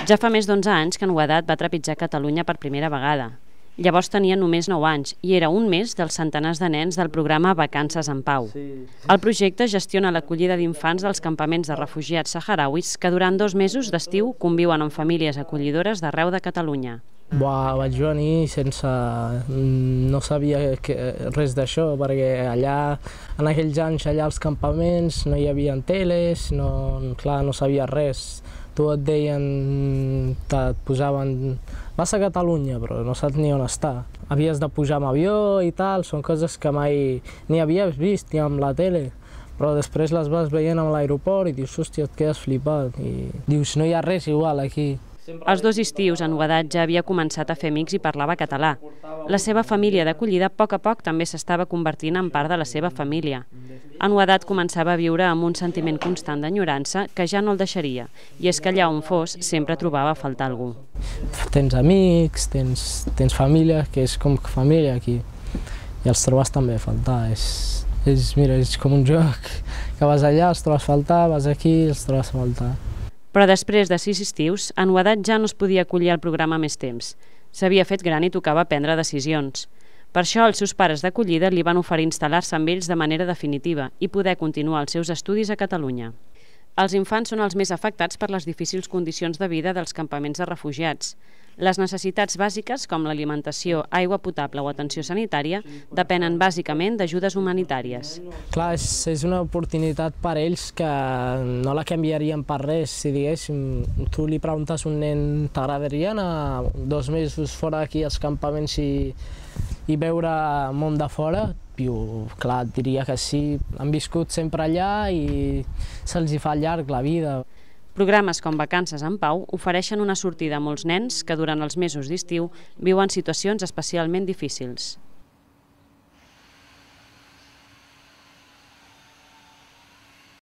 Ja fa més d'11 anys que Nuedat va trepitjar Catalunya per primera vegada. Llavors tenia només 9 anys i era un més dels centenars de nens del programa Vacances en Pau. El projecte gestiona l'acollida d'infants dels campaments de refugiats saharauis que durant 2 mesos d'estiu conviuen amb famílies acollidores d'arreu de Catalunya. Vaig venir sense... no sabia res d'això, perquè allà, en aquells anys, allà als campaments no hi havia teles, no sabia res. Tu et deien, et posaven... Vas a Catalunya, però no saps ni on està. Havies de pujar amb avió i tal, són coses que mai ni havies vist ni amb la tele. Però després les vas veient a l'aeroport i dius, hòstia, et quedes flipat. I dius, no hi ha res igual aquí. Els 2 estius a Nuedat ja havia començat a fer amics i parlava català. La seva família d'acollida a poc també s'estava convertint en part de la seva família. A Nuedat començava a viure amb un sentiment constant d'enyorança que ja no el deixaria, i és que allà on fos sempre trobava a faltar algú. Tens amics, tens família, que és com família aquí, i els trobes també a faltar. Mira, és com un joc, que vas allà, els trobes a faltar, vas aquí, els trobes a faltar. Però després de 6 estius, a Nuedat ja no es podia acollir al programa més temps. S'havia fet gran i tocava prendre decisions. Per això els seus pares d'acollida li van oferir instal·lar-se amb ells de manera definitiva i poder continuar els seus estudis a Catalunya. Els infants són els més afectats per les difícils condicions de vida dels campaments de refugiats. Les necessitats bàsiques, com l'alimentació, aigua potable o atenció sanitària, depenen bàsicament d'ajudes humanitàries. Clar, és una oportunitat per ells que no la canviarien per res. Si diguéssim, tu li preguntes a un nen, t'agradaria anar 2 mesos fora d'aquí als campaments i veure món de fora? Clar, et diria que sí. Han viscut sempre allà i se'ls fa llarg la vida. Programes com Vacances en Pau ofereixen una sortida a molts nens que durant els mesos d'estiu viuen situacions especialment difícils.